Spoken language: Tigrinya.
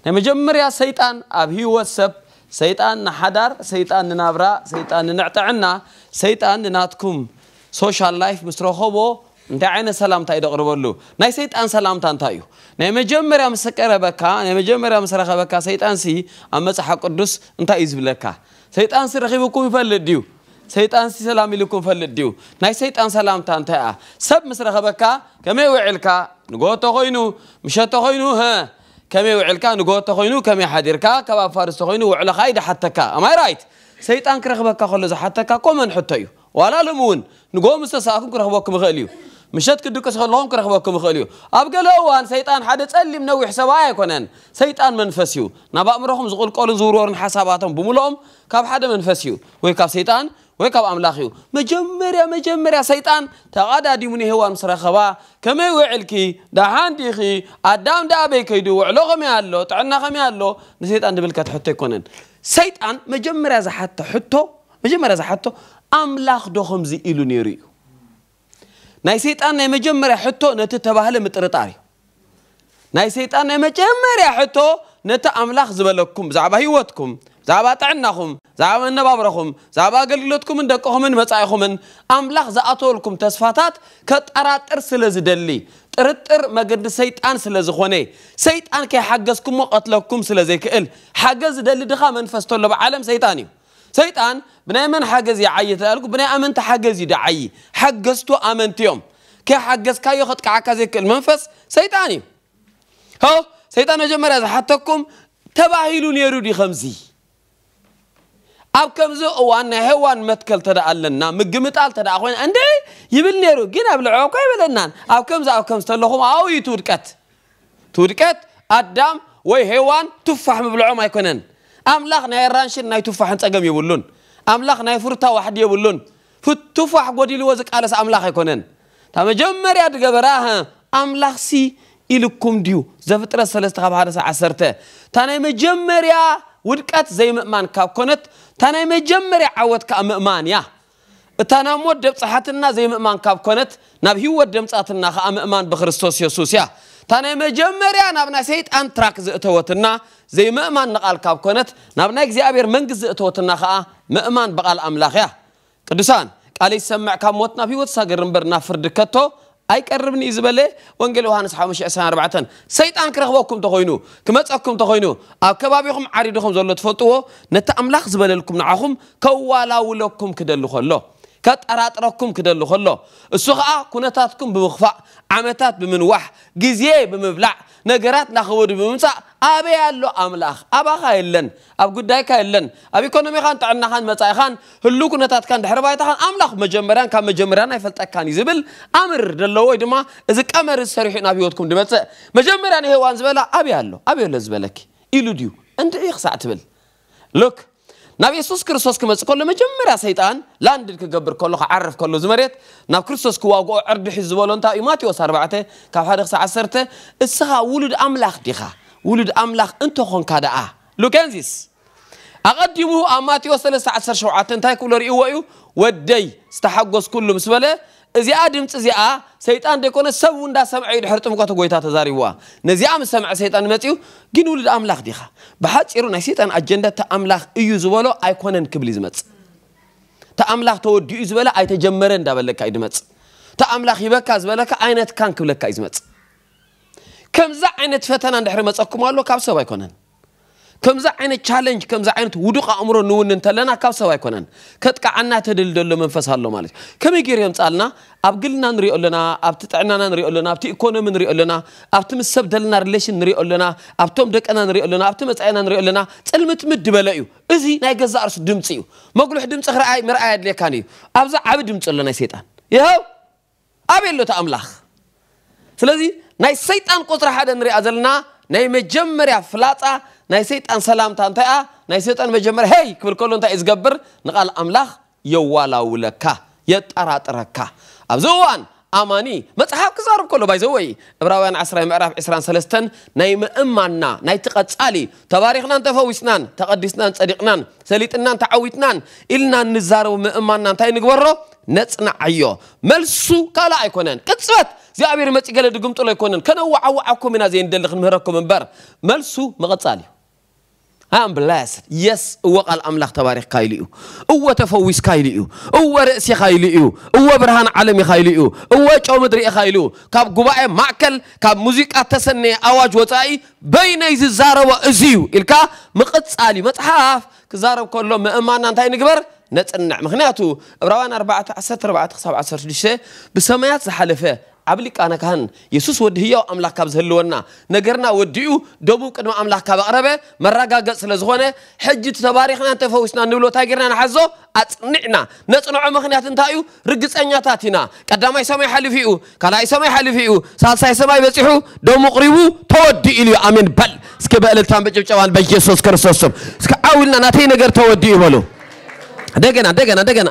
ናይ መጀመርያ ሰይጣን ኣብ ህይወት ሰብ፣ ሰይጣን ንሓዳር፣ ሰይጣን ንናብራ፣ ሰይጣን ንንዕጥዕና፣ ሰይጣን ንናትኩም ሶሻል ላይፍ ምስ ረኸቦ እንታይ ዓይነት ሰላምታ እዩ ደቕርበሉ? ናይ ሰይጣን ሰላምታ እንታይ እዩ? ናይ መጀመርያ ምስ ቀረበካ፣ ናይ መጀመርያ ምስ ረኸበካ ሰይጣንሲ ኣብ መጽሓፍ ቅዱስ እንታይ እዩ ዝብለካ? ሰይጣንሲ ረኺብኩም ይፈልጥ ድዩ? ሰይጣንሲ ሰላም ኢልኩም ይፈልጥ ድዩ? ናይ ሰይጣን ሰላምታ እንታይ እያ? ሰብ ምስ ረኸበካ ከመይ ውዕልካ? ንግሆ ተኾይኑ፣ ምሸት ተኾይኑ፣ ሀ፣ ከመይ ውዕልካ? ንግሆ ተኾይኑ ከመይ ሓዲርካ? ካብ ኣብ ፋርስ ተኾይኑ ውዕሎኻ እዩ ድሓተካ። ኣማይ ራይት? ሰይጣን ክረኽበካ ከሎ ዝሓተካ ኮመን ሕቶ እዩ። ዋላ ሎም እውን ንግሆ ምስ ተሳእኩም ክረኽበኩም ይኽእል እዩ። ምሸት ክድቅስ ከለኹም ክረኽበኩም ይኽእል እዩ። ኣብ ገለ እዋን ሰይጣን ሓደ ጸሊም ነዊሕ ሰብኣይ ኣይኮነን። ሰይጣን መንፈስ እዩ። ናብ ኣእምሮኹም ዝቕልቀሉን ዝውርወሩን ሓሳባቶም ብምልኦም ካብ ሓደ መንፈስ እዩ። ወይ ካብ ሰይጣን ወይ ካብ ኣምላኽ እዩ። መጀመርያ መጀመርያ ሰይጣን ተቓዳዲሙ ንሄዋን ምስ ረኸባ፣ ከመይ ውዕልኪ? ደሓን ዲኺ? ኣዳም ደኣ ኣበይ ከይዱ? ውዕሎ ከመይ ኣሎ? ጥዕና ከመይ ኣሎ? ንሰይጣን ድብል ከትሕቶ ኣይኮነን። ሰይጣን መጀመርያ ዝሓቶ ሕቶ፣ መጀመርያ ዝሓቶ ኣምላኽ ዶ ከምዚ ኢሉ ነይሩ እዩ። ናይ ሰይጣን ናይ መጀመርያ ሕቶ ነቲ ተባህለ ምጥርጣር እዩ። ናይ ሰይጣን ናይ መጀመርያ ሕቶ ነቲ ኣምላኽ ዝበለኩም ብዛዕባ ህይወትኩም፣ ብዛዕባ ጥዕናኹም፣ ብዛዕባ መነባብሮኹም፣ ብዛዕባ ኣገልግሎትኩምን ደቅኹምን መጻኢኹምን ኣምላኽ ዝኣተወልኩም ተስፋታት ከጠራጥር ስለ ዝደሊ፣ ጥርጥር መገዲ ሰይጣን ስለ ዝኾነ፣ ሰይጣን ከይሓገዝኩሞ ቀትለኩም ስለ ዘይክእል፣ ሓገዝ ዝደሊ ድኻ መንፈስ ተሎ ብዓለም ሰይጣን እዩ። ሰይጣን ብናይ መን ሓገዝ ይዓዪ ተባልኩ፣ ብናይ ኣመንቲ ሓገዝ እዩ ድዓዪ። ሓገዝቱ ኣመንቲ እዮም። ከይሓገዝካዮ ከጥቅዓካ ዘይክእል መንፈስ ሰይጣን እዩ። ሆ፣ ሰይጣን መጀመርያ ዝሓተኩም ተባሂሉ ነይሩ ድዩ ከምዚ? ኣብ ከምዚ እዋን ናይ ሄዋን መትከል ተደኣ ኣለና፣ ምግምጣል ተደኣ ኮይና፣ እንዴ ይብል ነይሩ፣ ግን ኣብ ልዕሊ እኮ ኣይበለናን። ኣብ ከምዚ ኣብ ከምዚ ተለኹም ኣብኡ እዩ እቲ ውድቀት። እቲ ውድቀት ኣዳም ወይ ሄዋን ቱፋሕ ምብልዖም ኣይኮነን። ኣምላኽ ናይ ኣራንሽን ናይ ቱፋሕን ጸገም የብሉን። ኣምላኽ ናይ ፍሩታ ዋሕዲ የብሉን። ፍት-፣ ቱፋሕ ጎዲልዎ ዝቃለስ ኣምላኽ ኣይኮነን። እታ መጀመርያ ድገበራ፣ ሀ፣ ኣምላኽሲ ኢልኩም ድዩ? ዘፍጥረት ሰለስተ ካብ ሓደ ሳዕ ዓሰርተ። እታ ናይ መጀመርያ ውድቀት ዘይምእማን ካብ ኮነት፣ እታ ናይ መጀመርያ ዓወት ከኣ ምእማን እያ። እታ ናብ ሞት ደብጽሓትና ዘይምእማን ካብ ኮነት፣ ናብ ህይወት ደምጻትና ከኣ ምእማን ብክርስቶስ የሱስ እያ። እታ ናይ መጀመርያ ናብ ናይ ሰይጣን ትራክ ዘእተወትና ዘይምእማን ንቓል ካብ ኮነት፣ ናብ ናይ እግዚኣብሔር መንግስቲ ዘእተወትና ከኣ ምእማን ብቓል ኣምላኽ እያ። ቅዱሳን፣ ቃለይ ዝሰምዕ ካብ ሞት ናብ ህይወት ይሳገር እምበር ናብ ፍርዲ ከቶ ኣይቀርብን እዩ ዝበለ ወንጌል ዮሃንስ ሓሙሽተ ዕስራን ኣርባዕተን። ሰይጣን ክረኽበኩም ተኾይኑ፣ ክመጸኩም ተኾይኑ፣ ኣብ ከባቢኹም ዓሪድኹም ዘሎ ትፈልጥዎ፣ ነቲ ኣምላኽ ዝበለልኩም ንዓኹም ከዋላውለኩም ክደሊ ከሎ፣ ከጠራጥረኩም ክደሊ ከሎ፣ እሱ ኸኣ ኩነታትኩም ብምኽፋእ፣ ዓመታት ብምንዋሕ፣ ግዜ ብምብላዕ፣ ነገራት ናኸበዱ ብምምጻእ፣ ኣበይ ኣሎ ኣምላኽ? ኣባኻ የለን፣ ኣብ ጉዳይካ የለን፣ ኣብ ኢኮኖሚኻን ጥዕናኻን መጻኢኻን ህሉ ኩነታትካን ድሕሪ ባይታኻን ኣምላኽ መጀመርያን ካብ መጀመርያን ኣይፈልጠካን እዩ ዝብል ኣምር ደለዎ ወይ ድማ እዚ ቀመር እዚ ሰሪሑ ናብ ህይወትኩም ድመጽእ። መጀመርያ ንሄዋን ዝበላ ኣበይ ኣሎ? ኣበይ ኣሎ ዝበለኪ? ኢሉ ድዩ? እንድዒ ክሳዕ ትብል። ሉክ፣ ናብ የሱስ ክርስቶስ ክመጽእ ከሎ መጀመርያ ሰይጣን ላንድድ ክገብር ከሎ፣ ክዓርፍ ከሎ እዚ መሬት ናብ ክርስቶስ ክዋግኦ ዕርዲ ሒዙ ዝበሎ እንታይ እዩ? ማቴዎስ ኣርባዕተ ካብ ሓደ ክሳዕ ዓሰርተ፣ እስኻ ውሉድ ኣምላኽ ዲኻ? ውሉድ ኣምላኽ እንተኾንካ ደኣ። ሉክ ኤንዚስ ኣቐዲሙ ኣብ ማቴዎስ ሰለስተ ዓሰርተ ሸውዓተ እንታይ ክብሎ ርእይዎ እዩ? ወደይ ዝተሓጎስኩሉ ምስ በለ፣ እዚኣ ድምፂ እዚኣ ሰይጣን ደይኮነ ሰብ እውን እንዳሰምዐ እዩ ድሕሪ ጥምቀቱ ጎይታ ተዛሪብዋ። ነዚኣ ምስ ሰምዐ ሰይጣን መፂኡ፣ ግን ውሉድ ኣምላኽ ዲኻ? ብሓፂሩ ናይ ሰይጣን ኣጀንዳ እቲ ኣምላኽ እዩ ዝበሎ ኣይኮነን ክብል እዩ ዝመፅእ። እቲ ኣምላኽ ተወዲኡ ዝበለ ኣይተጀመረ እንዳበለካ እዩ ዝመፅእ። እቲ ኣምላኽ ሂበካ ዝበለካ ኣይነትካን ክብለካ እዩ ዝመፅእ። ከምዛ ዓይነት ፈተና እንድሕሪ መፀኩም ኣሎ ካብ ሰብ ኣይኮነን። ከምዚ ዓይነት ቻለንጅ፣ ከምዚ ዓይነት ውዱቕ ኣእምሮ ንውን እንተለና ካብ ሰብ ኣይኮነን። ከጥቅዓና ተደሊ ዘሎ መንፈስ ኣሎ ማለት እዩ። ከመይ ገይሩ የምፅኣልና? ኣብ ግልና ንሪኦ ኣለና፣ ኣብቲ ጥዕናና ንሪኦ ኣለና፣ ኣብቲ ኢኮኖሚ ንሪኦ ኣለና፣ ኣብቲ ምስ ሰብ ዘለና ሪሌሽን ንሪኦ ኣለና፣ ኣብቶም ደቅና ንሪኦ ኣለና፣ ኣብቲ መፃኢና ንሪኦ ኣለና። ፅልምትምት ድበለ እዩ። እዚ ናይ ገዛእ ርእሱ ድምፂ እዩ። መጉልሕ ድምፂ ክረኣይ ምርኣይ ኣድልየካን እዩ። ኣብዚ ዓቢ ድምፂ ኣሎ ናይ ሰይጣን። ይኸው ኣበይ ኣሎ እቲ ኣምላኽ? ስለዚ ናይ ሰይጣን ቁፅሪ ሓደ ንሪኣ ዘለና ናይ መጀመርያ ፍላፃ ናይ ሰይጣን ሰላምታ እንታይ እያ? ናይ ሰይጣን መጀመርያ ሄይ ክብል ከሎ እንታይ እዩ ዝገብር? ንቓል ኣምላኽ የዋላውለካ፣ የጠራጥረካ። ኣብዚ እዋን ኣማኒ መጽሓፍ ክዛረብ ከሎ ባይዘወይ እብራውያን ዓስራ ምዕራፍ ዕስራን ሰለስተን ናይ ምእማንና ናይቲ ቀጻሊ ተባሪኽናን ተፈዊስናን ተቐዲስናን ጸዲቕናን ሰሊጥናን ተዓዊትናን ኢልና እንዛረቡ ምእማንና እንታይ ንግበሮ? ነጽንዓዮ። መልሱ ካልእ ኣይኮነን። ቅጽበት እግዚኣብሔር መጺ ገለ ድግምጥሎ ኣይኮነን። ከነዋዓውዓኩም ኢና ዘይንደሊ ክንምህረኩም እምበር፣ መልሱ ምቕጻል እዩ። I am blessed. Yes፣ እወ ቃል ኣምላኽ ተባሪኽካ ኢሉ እዩ። እወ ተፈዊስካ ኢሉ እዩ። እወ ርእሲ ኢኻ ኢሉ እዩ። እወ ብርሃን ዓለም ኢኻ ኢሉ እዩ። እወ ጨው ምድሪ ኢኻ ኢሉ። ካብ ጉባኤ ማእከል፣ ካብ ሙዚቃ ተሰነየ ኣዋጅ ወጻኢ በይነይ ዝዛረቦ እዚ እዩ ኢልካ ምቕጻል እዩ። መጽሓፍ ክዛረብ ከሎ ምእማና እንታይ ንግበር? ነጽንዕ። ምኽንያቱ ዕብራውያን ኣርባዕተ ዓሰርተ ኣርባዕተ ክሳብ ዓሰርተ ሽዱሽተ ብሰማያት ዝሓለፈ ዓብ ሊቃነ ካህን የሱስ ወዲ ህያው ኣምላኽ ካብ ዝህልወና፣ ነገርና ወዲኡ ደሙ ቅድሚ ኣምላኽ ካብ ኣቕረበ መረጋገጽ ስለ ዝኾነ፣ ሕጂ እቲ ተባሪኽናን ተፈዊስናን ንብሎ እንታይ ጌርና ንሓዞ? ኣጽኒዕና ነጽንዖ። ምኽንያት እንታይ እዩ? ርግጸኛታት ኢና። ቀዳማይ ሰማይ ሓሊፉ እዩ፣ ካልኣይ ሰማይ ሓሊፉ እዩ፣ ሳልሳይ ሰማይ በጺሑ፣ ደሙ ቅሪቡ፣ ተወዲኡ ኢሉ እዩ። ኣሜን በል እስኪ ብእልልታን ብጭብጨባን በኢየሱስ ክርስቶስ ስም። እስኪ ዓው ኢልና ናተይ ነገር ተወዲኡ በሉ። እንደገና፣ እንደገና፣ እንደገና።